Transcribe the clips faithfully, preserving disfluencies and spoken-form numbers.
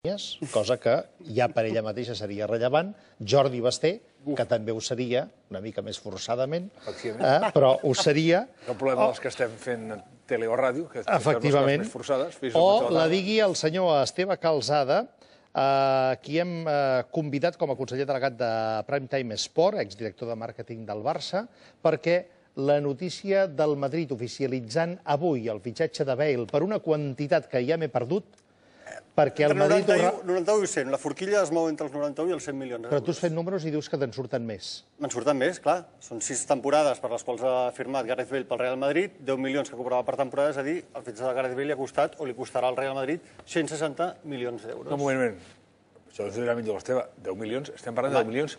cosa que ja per ella mateixa seria rellevant. Jordi Basté, que també ho seria, una mica més forçadament, però ho seria. El problema dels que estem fent tele o ràdio, que efectivament, les més forçades. O la digui el senyor Esteve Calzada, qui hem convidat com a conseller delegat de Primetime Sport, exdirector de màrqueting del Barça, perquè la notícia del Madrid oficialitzant avui el fitxatge de Bale per una quantitat que ja m'he perdut, perquè el Madrid... noranta-u i cent. La forquilla es mou entre els noranta-u i els cent milions d'euros. Però tu has fet números i dius que te'n surten més. Me'n surten més, clar. Són sis temporades per les quals ha firmat Gareth Bale pel Real Madrid, deu milions que cobrava per temporada, és a dir, el fitxatge de Gareth Bale li ha costat, o li costarà al Real Madrid, cent seixanta milions d'euros. No, un moment, un moment. Això és la millor, Esteve. deu milions? Estem parlant de deu milions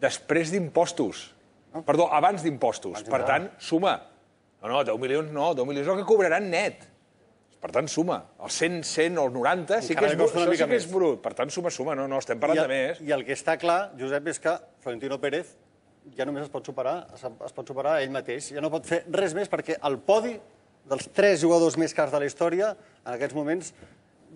després d'impostos. Perdó, abans d'impostos. Per tant, suma. No, no, deu milions no, deu milions és el que cobraran net. Per tant, suma. Els cent, cent o els noranta sí que és brut. Per tant, suma, suma. No, no, estem parlant de més. I el que està clar, Josep, és que Florentino Pérez ja només es pot superar, es pot superar ell mateix. Ja no pot fer res més perquè el podi dels tres jugadors més cars de la història, en aquests moments,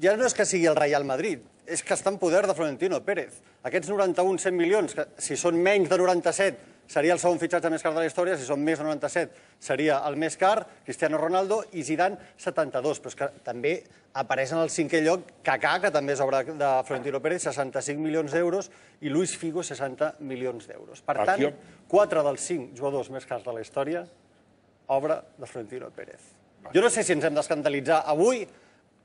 ja no és que sigui el Real Madrid, és que està en poder de Florentino Pérez. Aquests noranta-un, cent milions, que si són menys de noranta-set, seria el segon fitxatge més car de la història, si són més de noranta-set seria el més car, Cristiano Ronaldo, i Zidane setanta-dos, però és que també apareix en el cinquè lloc Kaká, que també és obra de Florentino Pérez, seixanta-cinc milions d'euros, i Luis Figo, seixanta milions d'euros. Per tant, quatre dels cinc jugadors més cars de la història, obra de Florentino Pérez. Jo no sé si ens hem d'escandalitzar avui,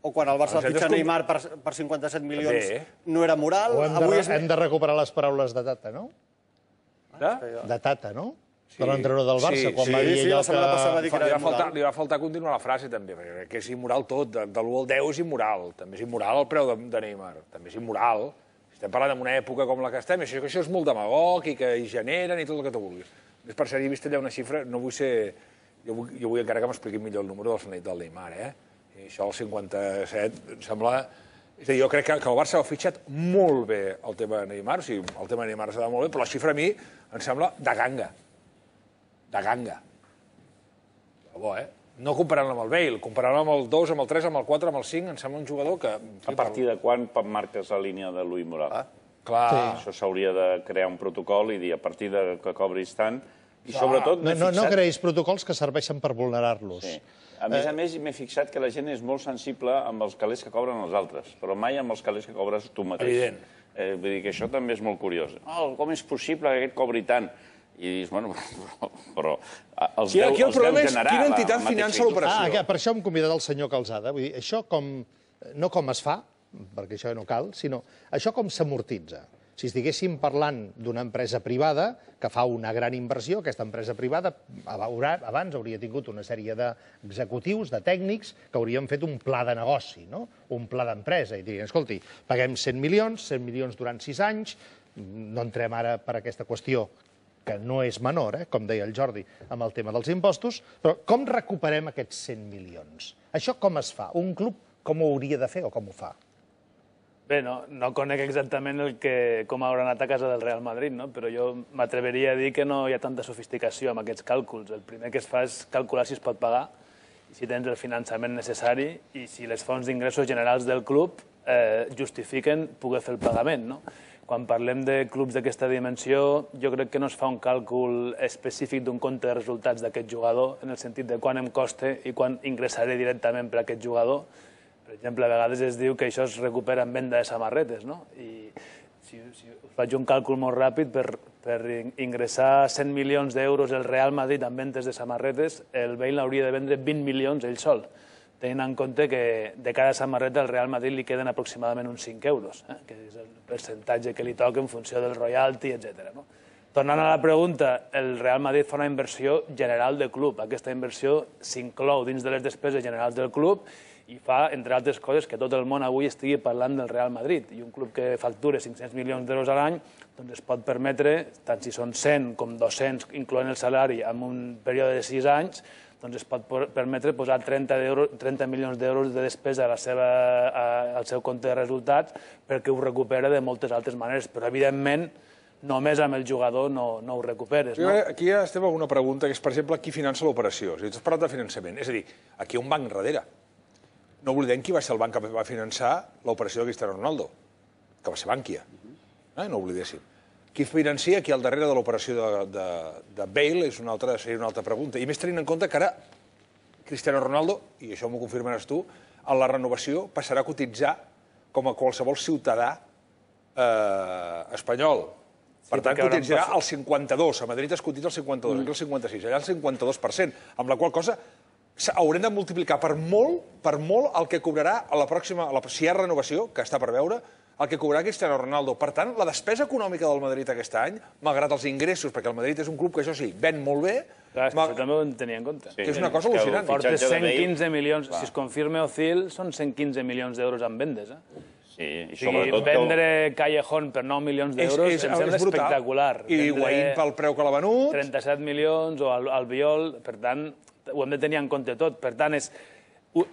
o quan el Barça fitxa Neymar per cinquanta-set milions no era moral. O hem de recuperar les paraules de Tata, no? De Tata, no? De l'entrenador del Barça, quan va dir allò que... Li va faltar continuar la frase, també, perquè és immoral tot. De l'u al deu és immoral. També és immoral el preu de Neymar. També és immoral. Estem parlant d'una època com la que estem, i això és molt demagog i que hi generen i tot el que tu vulguis. Per cert, he vist allà una xifra, no vull ser... Jo vull encara que m'expliqui millor el número del Neymar, eh? I això, el cinquanta-set, em sembla... És a dir, jo crec que el Barça ha fitxat molt bé el tema de Neymar, o sigui, el tema de Neymar s'ha de molt bé, però la xifra a mi em sembla de ganga. De ganga. De bo, eh? No comparant-la amb el Bale, comparant-la amb el dos, amb el tres, amb el quatre, amb el cinc, em sembla un jugador que... A partir de quan marques la línia de Louis Moral? Clar. Això s'hauria de crear un protocol i dir, a partir de que cobris tant... I sobretot... No creïs protocols que serveixen per vulnerar-los. A més a més, m'he fixat que la gent és molt sensible amb els calés que cobren els altres, però mai amb els calés que cobres tu mateix. Evident. Vull dir que això també és molt curiós. Com és possible que aquest cobri tant? I dius, bueno, però els deu generar... Aquí el problema és quina entitat finança l'operació. Per això hem convidat el senyor Calzada. Vull dir, això com... No com es fa, perquè això no cal, sinó això com s'amortitza. Si estiguéssim parlant d'una empresa privada que fa una gran inversió, aquesta empresa privada abans hauria tingut una sèrie d'executius, de tècnics, que haurien fet un pla de negoci, un pla d'empresa, i dirien, escolti, paguem cent milions, cent milions durant sis anys, no entrem ara per aquesta qüestió, que no és menor, com deia el Jordi, amb el tema dels impostos, però com recuperem aquests cent milions? Això com es fa? Un club com ho hauria de fer o com ho fa? Bé, no conec exactament com haurà anat a casa del Real Madrid, però jo m'atreveria a dir que no hi ha tanta sofisticació amb aquests càlculs. El primer que es fa és calcular si es pot pagar, si tens el finançament necessari i si les fonts d'ingressos generals del club justifiquen poder fer el pagament. Quan parlem de clubs d'aquesta dimensió, jo crec que no es fa un càlcul específic d'un compte de resultats d'aquest jugador, en el sentit de quant em costa i quant ingressaré directament per a aquest jugador. Per exemple, a vegades es diu que això es recupera en venda de samarretes, no? I si faig un càlcul molt ràpid, per ingressar cent milions d'euros el Real Madrid en ventes de samarretes, el Bale hauria de vendre vint milions ell sol, tenint en compte que de cada samarreta al Real Madrid li queden aproximadament uns cinc euros, que és el percentatge que li toca en funció del royalty, etcètera. Tornant a la pregunta, el Real Madrid fa una inversió general de club. Aquesta inversió s'inclou dins de les despeses generals del club i fa, entre altres coses, que tot el món avui estigui parlant del Real Madrid. I un club que factura cinc-cents milions d'euros a l'any es pot permetre, tant si són cent com dos-cents, incloent el salari, en un període de sis anys, es pot permetre posar trenta milions d'euros de despesa al seu compte de resultats perquè ho recupera de moltes altres maneres. Però, evidentment, només amb el jugador no ho recuperes. Aquí ja estem amb una pregunta, que és, per exemple, qui finança l'operació. Tu has parlat de finançament. És a dir, aquí hi ha un banc darrere. no oblidem qui va ser el banc que va finançar l'operació de Cristiano Ronaldo, que va ser Bankia. Eh? No oblidéssim. Qui financia aquí al darrere de l'operació de, de, de Bale és una altra, seria una altra pregunta. I més tenint en compte que ara Cristiano Ronaldo, i això m'ho confirmaràs tu, a la renovació passarà a cotitzar com a qualsevol ciutadà eh, espanyol. Per tant, cotitzarà el cinquanta-dos. A Madrid es cotitza el cinquanta-dos, aquí el cinquanta-sis, allà el cinquanta-dos per cent, amb la qual cosa haurem de multiplicar per molt, per molt el que cobrarà a la pròxima, a la, si hi ha renovació, que està per veure, el que cobrarà Cristiano Ronaldo. Per tant, la despesa econòmica del Madrid aquest any, malgrat els ingressos, perquè el Madrid és un club que, això sí, ven molt bé... Clar, és que això també ho en tenia en compte. Que és una cosa al·lucinant. Porta cent quinze milions, si es confirma Ozil, són cent quinze milions d'euros en vendes, eh? Sí, i sobretot... Vendre Callejón per nou milions d'euros em sembla espectacular. I Higuaín pel preu que l'ha venut... trenta-set milions, o Albiol, per tant, ho hem de tenir en compte tot. Per tant, és...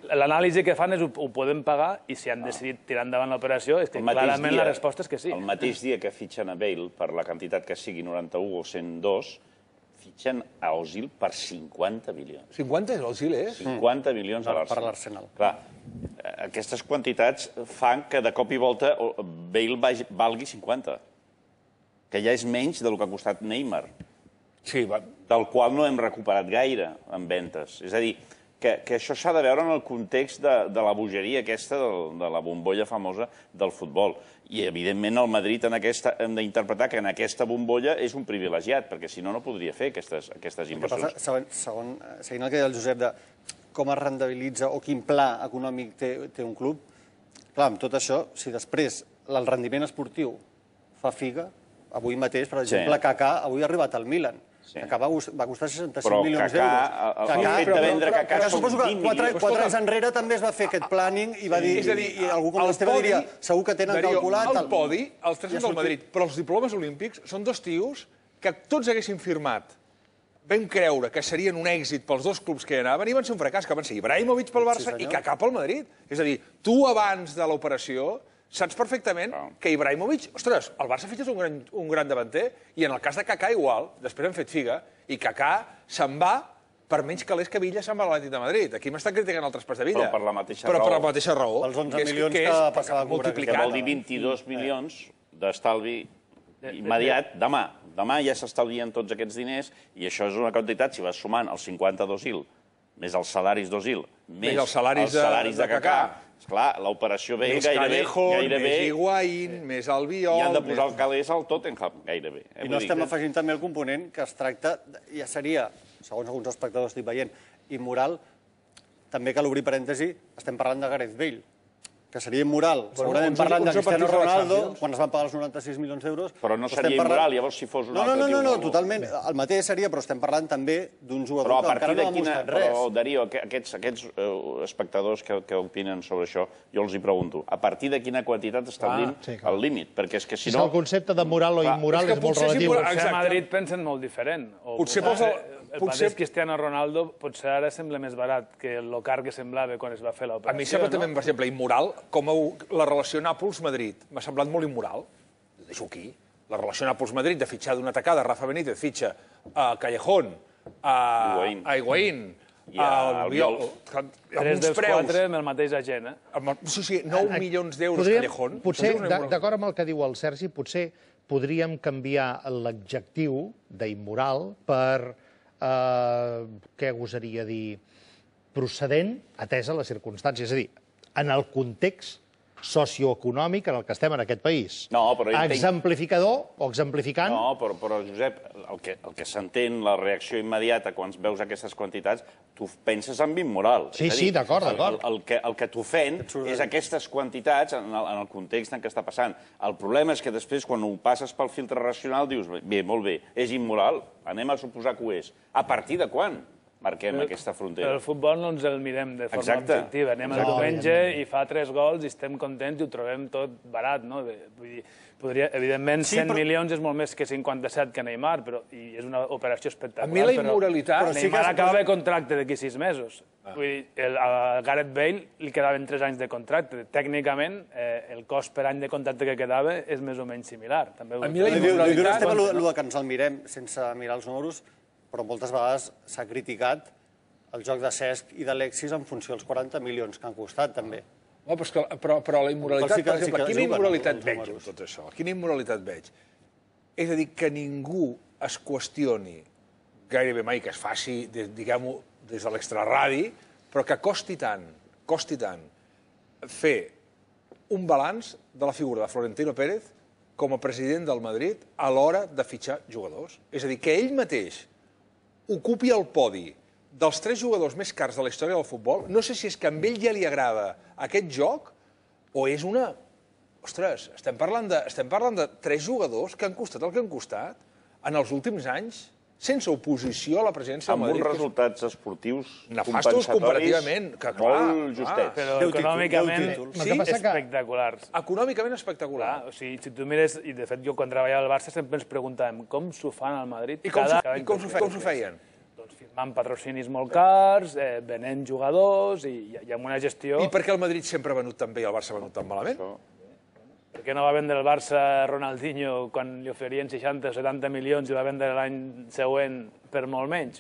l'anàlisi que fan és ho podem pagar i si han decidit tirar endavant l'operació és que clarament la resposta és que sí. El mateix dia que fitxen a Bale per la quantitat que sigui noranta-u o cent dos, fitxen a Ozil per cinquanta milions. cinquanta és Ozil, eh? cinquanta milions a Per l'Arsenal. Clar, aquestes quantitats fan que de cop i volta Bale valgui cinquanta, que ja és menys del que ha costat Neymar, del qual no hem recuperat gaire en ventes. És a dir, que, que això s'ha de veure en el context de, de la bogeria aquesta, de, de la bombolla famosa del futbol. I, evidentment, el Madrid en aquesta, hem d'interpretar que en aquesta bombolla és un privilegiat, perquè si no, no podria fer aquestes, aquestes inversions. Passa, segon, segon, seguint el que deia el Josep de com es rendibilitza o quin pla econòmic té, té un club, clar, amb tot això, si després el rendiment esportiu fa figa, avui mateix, per exemple, sí. Kaká avui ha arribat al Milan. Sí. Kaká va, va costar seixanta-cinc milions d'euros. Però Kaká, el fet de vendre Kaká són vint milions. Quatre anys enrere també es va fer aquest planning i va dir, i algú com l'Esteve diria, segur que tenen calculat... El podi, els tres són del Madrid, però els diplomes olímpics són dos tios que tots haguessin firmat, vam creure que serien un èxit pels dos clubs que hi anaven i van ser un fracàs, que van ser Ibrahimovic pel Barça i Kaká pel Madrid. És a dir, tu abans de l'operació saps perfectament que Ibrahimovic... Ostres, el Barça fitxes un gran, un gran davanter i en el cas de Kaká igual, després han fet figa, i Kaká se'n va per menys calés que Villa se'n va a l'Atlètic de Madrid. Aquí m'estan criticant el traspàs de Villa. Però per la mateixa Però raó. per la mateixa raó. Els onze milions que, que passava a cobrar. Que vol dir vint-i-dos milions d'estalvi immediat demà. Demà ja s'estalvien tots aquests diners i això és una quantitat, si vas sumant els cinquanta d'Ozil, més els salaris d'Ozil, més els salaris de Kaká, esclar, l'operació ve gairebé... Més Higuaín, més Albiol... I han de posar el calés al Tottenham, gairebé. I no estem afegint també el component que es tracta, ja seria, segons alguns espectadors estic veient, immoral, també cal obrir parèntesi, estem parlant de Gareth Bale, que seria immoral. Segurament parlant de Cristiano Ronaldo, quan es van pagar els noranta-sis milions d'euros... Però no seria immoral, llavors, si fos un altre... No, no, no, totalment. El mateix seria, però estem parlant també d'un jugador que encara no ha demostrat res. Però, Darío, aquests espectadors que opinen sobre això, jo els hi pregunto, a partir de quina quantitat establim el límit? Perquè és que si no... El concepte de moral o immoral és molt relatiu. Potser a Madrid pensen molt diferent. Potser el mateix Cristiano Ronaldo potser ara sembla més barat que el car que semblava quan es va fer l'operació. A mi sembla també, per exemple, immoral, com la relació Nàpols-Madrid. M'ha semblat molt immoral. Deixo aquí. La relació Nàpols-Madrid de fitxar d'una tacada, Rafa Benítez fitxa a Callejón, a Higuaín, a Albiol... Tres dels quatre amb el mateix agent, eh? Sí, sí, nou milions d'euros Callejón. Potser, d'acord amb el que diu el Sergi, potser podríem canviar l'adjectiu d'immoral per... què gosaria dir, procedent, atesa les circumstàncies. És a dir, en el context socioeconòmic en el que estem en aquest país. No, però... Exemplificador o exemplificant... No, però, però Josep, el que, el que s'entén, la reacció immediata quan veus aquestes quantitats, tu penses en immoral. Sí, sí, d'acord, d'acord. El, el, que, el que t'ofèn és aquestes quantitats en el, en el context en què està passant. El problema és que després, quan ho passes pel filtre racional, dius, bé, molt bé, és immoral, anem a suposar que ho és. A partir de quan marquem aquesta frontera? El futbol no ens el mirem de forma objectiva. Anem el diumenge i fa tres gols i estem contents i ho trobem tot barat, no? Vull dir, podria, evidentment, cent milions és molt més que cinquanta-set que Neymar, però i és una operació espectacular. A mi la immoralitat... Neymar acaba de contracte d'aquí sis mesos. Vull dir, a Gareth Bale li quedaven tres anys de contracte. Tècnicament, el cost per any de contracte que quedava és més o menys similar. A mi la immoralitat... Diu que ens el mirem sense mirar els números, però moltes vegades s'ha criticat el joc de Cesc i d'Alexis en funció dels quaranta milions que han costat, també. Però la immoralitat, per exemple, quina immoralitat veig en tot això? Quina immoralitat veig? És a dir, que ningú es qüestioni gairebé mai, que es faci, diguem-ho, des de l'extraradi, però que costi tant, costi tant, fer un balanç de la figura de Florentino Pérez com a president del Madrid a l'hora de fitxar jugadors. És a dir, que ell mateix ocupi el podi dels tres jugadors més cars de la història del futbol, no sé si és que a ell ja li agrada aquest joc o és una... Ostres, estem parlant de, estem parlant de tres jugadors que han costat el que han costat en els últims anys, sense oposició a la presidència del Madrid. Amb uns resultats esportius nefastos comparativament, que clar, molt justets. Però econòmicament sí, espectaculars. Econòmicament espectacular. O sigui, si tu mires, i de fet jo quan treballava al Barça sempre ens preguntàvem com s'ho fan al Madrid. I com s'ho feien? Firmant patrocinis molt cars, venent jugadors i amb una gestió... I per què el Madrid sempre ha venut tan bé i el Barça ha venut tan malament? Per què no va vendre el Barça Ronaldinho quan li oferien seixanta o setanta milions i va vendre l'any següent per molt menys?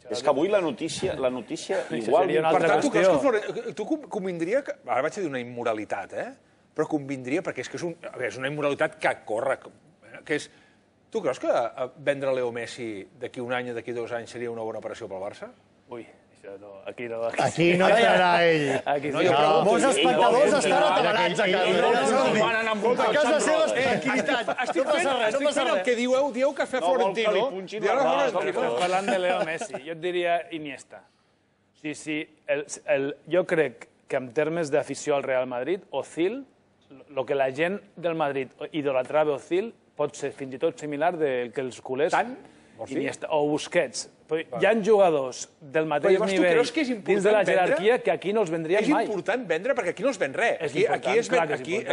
És que avui la notícia igual... Per tant, tu creus que tu convindria... Ara vaig a dir una immoralitat, eh? Però convindria, perquè és que és una immoralitat que corre, que és... Tu creus que vendre Leo Messi d'aquí un any o d'aquí dos anys seria una bona operació pel Barça? Ui, això no, aquí no... Aquí no estarà ell. Molts espectadors estan atabalats a casa. A casa seva tranquil·litat. Estic fent el que dieu, dieu que fa Florentino. Parlant de Leo Messi, jo et diria Iniesta. Sí, sí, jo crec que en termes d'afició al Real Madrid, Ozil, el que la gent del Madrid idolatrava Ozil, pot ser fins i tot similar del que els culers... Tant? O Busquets. Hi ha jugadors del mateix nivell dins de la jerarquia que aquí no els vendrien mai. És important vendre perquè aquí no es ven res. Aquí és a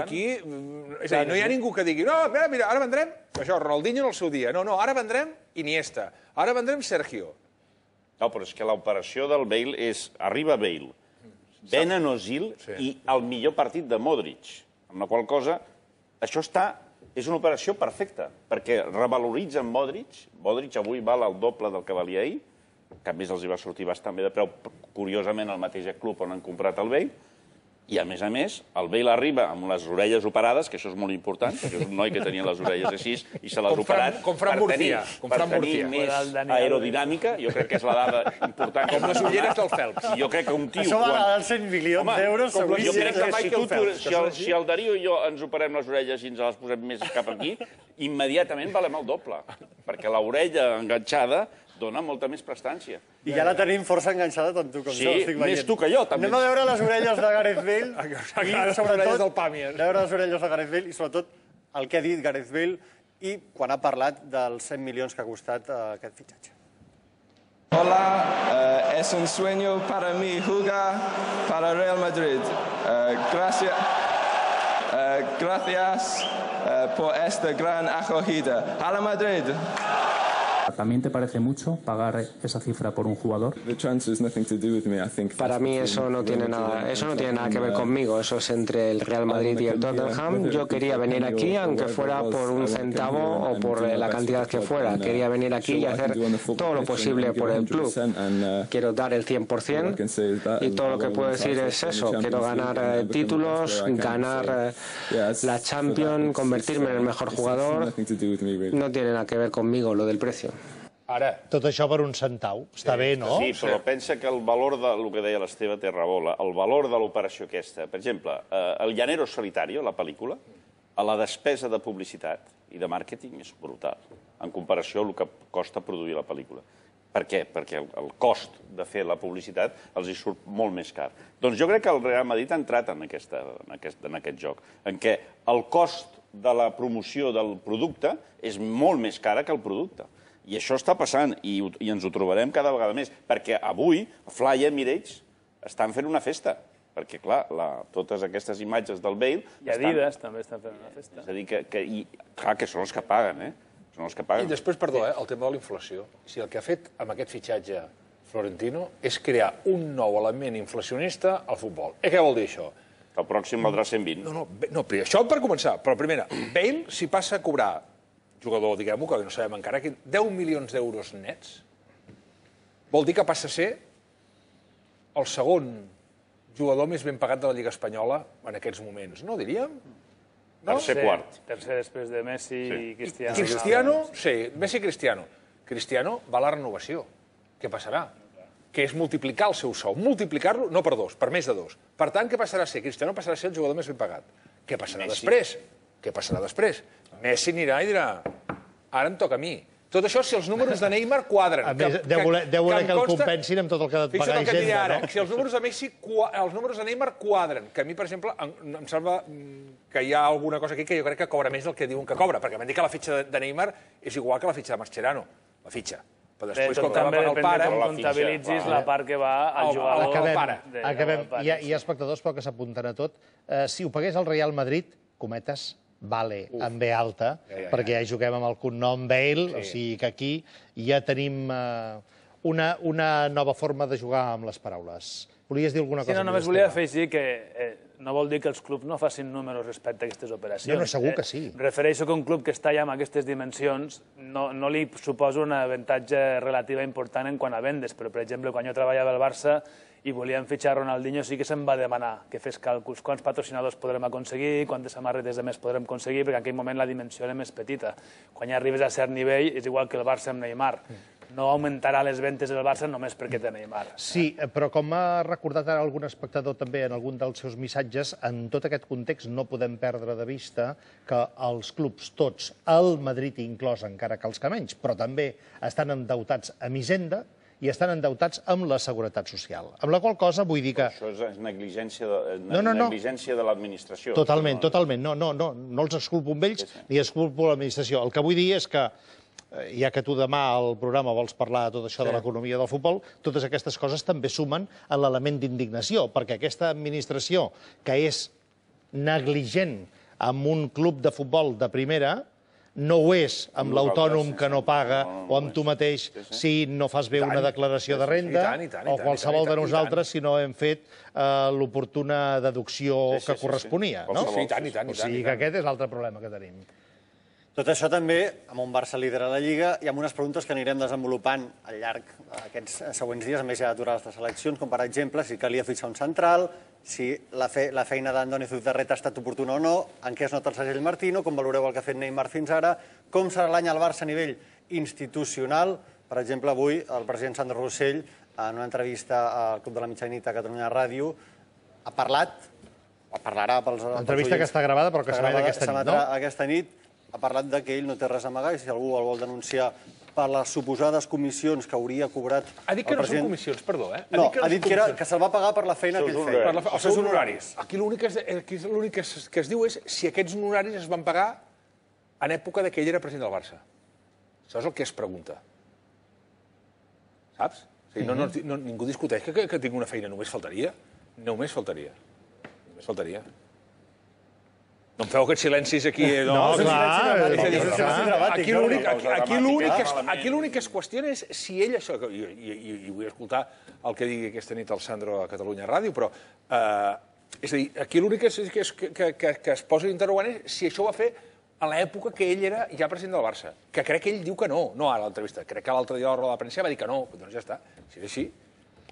dir, no hi ha ningú que digui no, mira, mira, ara vendrem això, Ronaldinho en el seu dia. No, no, ara vendrem Iniesta. Ara vendrem Sergio. No, però és que l'operació del Bale és... Arriba Bale, venen Ozil i el millor partit de Modric. Amb la qual cosa, això està... És una operació perfecta, perquè revaloritzen Modric. Modric avui val el doble del que valia ahir, que a més els hi va sortir bastant bé de preu, curiosament al mateix club on han comprat el Bale, i a més a més, el Bale arriba amb les orelles operades, que això és molt important, perquè és un noi que tenia les orelles així i se les ha operat per tenir més aerodinàmica, jo crec que és la dada important. Com les ulleres del Phelps. Jo crec que un tio... Això val als cent milions d'euros. Jo crec que si el Darío i jo ens operem les orelles i ens les posem més cap aquí, immediatament valem el doble, perquè l'orella enganxada dona molta més prestància. I ja la tenim força enganxada tant tu com jo, estic veient. Sí, més tu que jo, també. Anem a veure les orelles de Gareth Bale. I sobretot, a veure les orelles de Gareth Bale i sobretot el que ha dit Gareth Bale i quan ha parlat dels cent milions que ha costat aquest fitxatge. Hola, uh, es un sueño para mí jugar para Real Madrid. Uh, gracias, uh, gracias uh, por esta gran acogida. ¡Hala Madrid! ¿También te parece mucho pagar esa cifra por un jugador? Para mí eso no tiene nada, eso no tiene nada que ver conmigo, eso es entre el Real Madrid y el Tottenham. Yo quería venir aquí, aunque fuera por un centavo o por la cantidad que fuera. Quería venir aquí y hacer todo lo posible por el club. Quiero dar el cien por cien y todo lo que puedo decir es eso. Quiero ganar títulos, ganar la Champions, convertirme en el mejor jugador. No tiene nada que ver conmigo lo del precio. Ara, tot això per un centau. Està bé, no? Sí, però pensa que el valor del que deia l'Esteve té raó, el valor de l'operació aquesta, per exemple, el Llanero Solitario, la pel·lícula, a la despesa de publicitat i de màrqueting és brutal, en comparació amb el que costa produir la pel·lícula. Per què? Perquè el cost de fer la publicitat els hi surt molt més car. Doncs jo crec que el Real Madrid ha entrat en aquest joc, en què el cost de la promoció del producte és molt més cara que el producte. I això està passant, i ens ho trobarem cada vegada més, perquè avui Fly Emirates estan fent una festa, perquè, clar, totes aquestes imatges del Bale... I Adidas també estan fent una festa. És a dir, que, clar, que són els que paguen, eh? Són els que paguen. I després, perdó, el tema de la inflació. Si el que ha fet amb aquest fitxatge Florentino és crear un nou element inflacionista al futbol. Eh, què vol dir això? El pròxim valdrà cent vint. No, no, això per començar. Però, primera, Bale, si passa a cobrar jugador, diguem-ho, que no sabem encara, deu milions d'euros nets, vol dir que passa a ser el segon jugador més ben pagat de la Lliga Espanyola en aquests moments, no diríem? Tercer quart. Tercer després de Messi i Cristiano. Cristiano, sí, Messi i Cristiano. Cristiano va a la renovació. Què passarà? Que és multiplicar el seu sou. Multiplicar-lo, no per dos, per més de dos. Per tant, què passarà a ser? Cristiano passarà a ser el jugador més ben pagat. Què passarà després? Què passarà després? Messi anirà i dirà, ara em toca a mi. Tot això si els números de Neymar quadren. A més, deu voler que el compensin amb tot el que ha de pagar Hisenda, no? Si els números de Messi, els números de Neymar quadren, que a mi, per exemple, em sembla que hi ha alguna cosa aquí que jo crec que cobra més del que diuen que cobra, perquè m'han dit que la fitxa de Neymar és igual que la fitxa de Mascherano, la fitxa. Però després, com que va pagar el pare... Com comptabilitzis la part que va al jugador... Acabem. Hi ha espectadors, però que s'apunten a tot. Si ho pagués el Real Madrid, cometes, vale, amb B alta, perquè ja juguem amb el cognom Bale, o sigui que aquí ja tenim una nova forma de jugar amb les paraules. Volies dir alguna cosa? Sí, no, només volia afegir que no vol dir que els clubs no facin números respecte a aquestes operacions. No, no, segur que sí. Refereixo que un club que està ja amb aquestes dimensions no li suposa un avantatge relativa important en quant a vendes, però, per exemple, quan jo treballava al Barça i volíem fitxar Ronaldinho, sí que se'm va demanar que fes càlculs, quants patrocinadors podrem aconseguir, quantes samarretes de més podrem aconseguir, perquè en aquell moment la dimensió era més petita. Quan ja arribes a cert nivell, és igual que el Barça amb Neymar. No augmentarà les ventes del Barça només perquè té Neymar. Sí, però com ha recordat ara algun espectador també en algun dels seus missatges, en tot aquest context no podem perdre de vista que els clubs tots, el Madrid inclòs, encara que els que menys, però també estan endeutats amb Hisenda i estan endeutats amb la Seguretat Social. Amb la qual cosa vull dir que... Això és negligència de l'administració. Totalment, totalment. No, no, no els exculpo amb ells ni exculpo l'administració. El que vull dir és que, ja que tu demà al programa vols parlar de tot això de l'economia del futbol, totes aquestes coses també sumen a l'element d'indignació, perquè aquesta administració que és negligent amb un club de futbol de primera no ho és amb l'autònom que no paga o amb tu mateix si no fas bé una declaració de renda o qualsevol de nosaltres si no hem fet l'oportuna deducció que corresponia. O sigui que aquest és l'altre problema que tenim. Tot això també, amb un Barça líder a la Lliga i amb unes preguntes que anirem desenvolupant al llarg d'aquests següents dies, a més ja aturades les eleccions, com per exemple si calia fixar un central, si la feina d'Andoni Zubizarreta ha estat oportuna o no, en què es nota el segell Martino, com valoreu el que ha fet Neymar fins ara, com serà l'any al Barça a nivell institucional. Per exemple, avui el president Sandro Rossell, en una entrevista al Club de la Mitjanit a Catalunya Ràdio, ha parlat, o parlarà pels oients... Entrevista que està gravada però que s'emet aquesta nit, no? Aquesta nit ha parlat que ell no té res a amagar i si algú el vol denunciar per les suposades comissions que hauria cobrat el president... Ha dit que no són comissions, perdó, eh? No, ha dit que se'l va pagar per la feina que ell feia. Els seus honoraris. Aquí l'únic que es diu és si aquests honoraris es van pagar en època que ell era president del Barça. Això és el que es pregunta. Saps? Ningú discuteix que tinc una feina, només faltaria. Només faltaria. Només faltaria. No em feu aquests silencis aquí. No, clar. Aquí l'únic que es qüestiona és si ell això... I vull escoltar el que digui aquesta nit el Sandro a Catalunya Ràdio, però... És a dir, aquí l'únic que es posa interrogant és si això ho va fer a l'època que ell era ja president del Barça. Que crec que ell diu que no, no ara a l'entrevista. Crec que l'altre dia a la roda de premsa va dir que no. Doncs ja està. Si és així...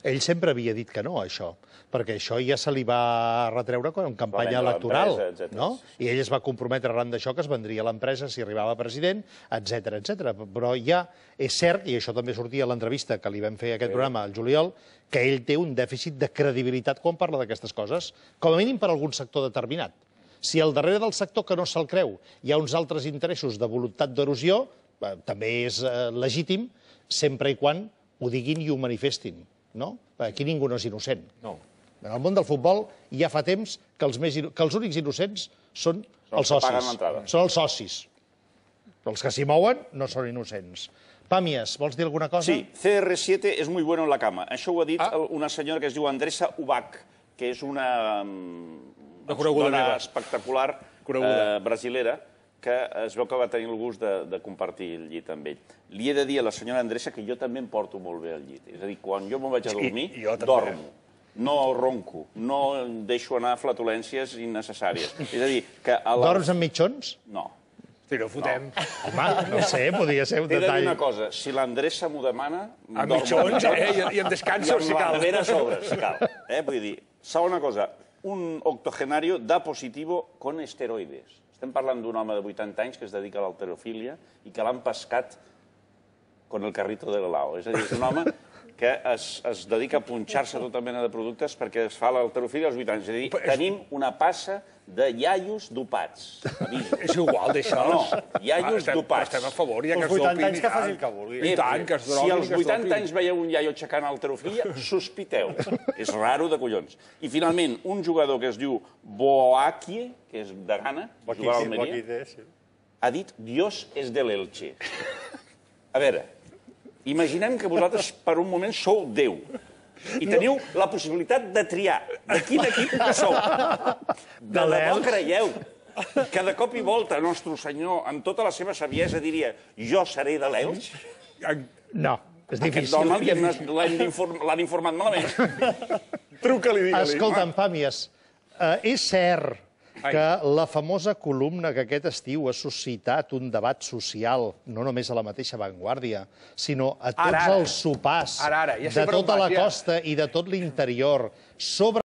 Ell sempre havia dit que no, això, perquè això ja se li va retreure en campanya electoral, no? I ell es va comprometre arran d'això que es vendria l'empresa si arribava a president, etcètera, etcètera. Però ja és cert, i això també sortia a l'entrevista que li vam fer a aquest programa al juliol, que ell té un dèficit de credibilitat quan parla d'aquestes coses, com a mínim per algun sector determinat. Si al darrere del sector que no se'l creu hi ha uns altres interessos de voluntat d'erosió, també és legítim, sempre i quan ho diguin i ho manifestin. Aquí ningú no és innocent. En el món del futbol ja fa temps que els únics innocents són els socis. Són els socis. Els que s'hi mouen no són innocents. Pàmies, vols dir alguna cosa? Sí, C R siete és muy bueno en la cama. Això ho ha dit una senyora que es diu Andressa Ubach, que és una dona espectacular brasilera, que es veu que va tenir el gust de compartir el llit amb ell. Li he de dir a la senyora Andressa que jo també em porto molt bé al llit. És a dir, quan jo me'n vaig a dormir, dormo. No ronco, no deixo anar flatulències innecessàries. És a dir, que... Dorms amb mitjons? No. Si no fotem. Home, no sé, podria ser un T'he de dir detall. una cosa, si l'Andressa m'ho demana... A mitjons, eh? I em descanso, si cal. I amb la cal. nevera a sobre, si cal. Eh? Vull dir, segona cosa, un octogenario da positivo con esteroides. Estem parlant d'un home de vuitanta anys que es dedica a l'halterofília i que l'han pescat con el carrito de l'helao. És a dir, és un home que es, es dedica a punxar-se tota mena de productes perquè es fa l'halterofília als vuitanta anys. És a dir, tenim una passa de iaios dopats. Aviso. És igual d'això. No, no, iaios estem, dopats. Estem a favor, ja que Els es vuitanta dopin. anys que faci el que vulgui. I tant, que es drogui. Si als vuitanta anys veieu un iaio aixecant halterofília, sospiteu. És raro de collons. I finalment, un jugador que es diu Boakie, que és de Ghana, jugar a Almeria, ha dit Dios és de l'Elche. A veure, imaginem que vosaltres per un moment sou Déu i teniu la possibilitat de triar de quin equip sou. De debò creieu que de cop i volta Nostre Senyor, amb tota la seva saviesa, diria jo seré de l'Elx? No, és Aquest difícil. home l'han informat malament. Truca-li, digue-li. Escolta'm, Pàmies, eh, és cert que la famosa columna que aquest estiu ha suscitat un debat social, no només a la mateixa Vanguardia, sinó a tots Ara, ara. els sopars Ara, ara, ja sé de per on tota vas, la ja. costa i de tot l'interior sobre